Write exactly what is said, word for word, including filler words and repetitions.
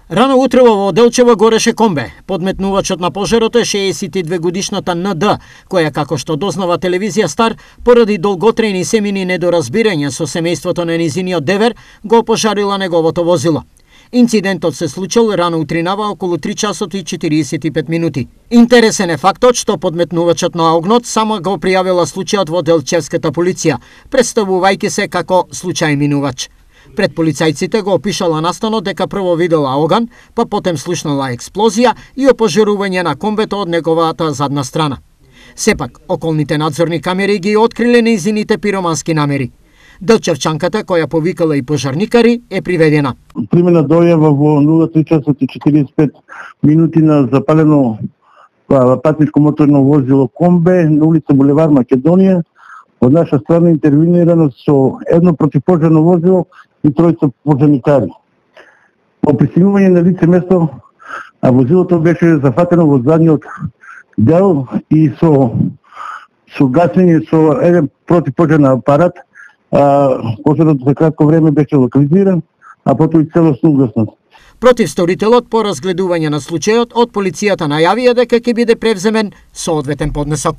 Рано утрово во Делчево гореше комбе. Подметнувачот на пожарот е шеесет и две годишната Н Д, која, како што дознава телевизија Стар, поради долготрајни семени недоразбирања со семејството на низиниот девер, го пожарила неговото возило. Инцидентот се случил рано утринава околу три часот и четириесет и пет минути. Интересен е фактот што подметнувачот на огнот само го пријавила случајот во Делчевската полиција, представувајќи се како случај минувач. Пред полицајците го опишала настанот дека прво видела оган, па потем слушнала експлозија и опожарување на комбето од неговата задна страна. Сепак, околните надзорни камери ги откриле нејзините пиромански намери. Делчевчанката, која повикала и пожарникари, е приведена. Примена дојава во нула три часот и четириесет и пет минути на запалено патничко моторно возило комбе на улица Булевар Македонија. Од наша страна интервенирано со едно противпожарно возило и тројца пожарникари. По пристигнување на лице место, а возилото беше зафатено во задниот дел и со со гасење со еден противпожарен апарат, а, пожарот за кратко време беше локализиран, а потоа и целосно угаснат. Против сторителот по разгледување на случајот од полицијата најавија дека ќе биде превземен соодветен поднесок.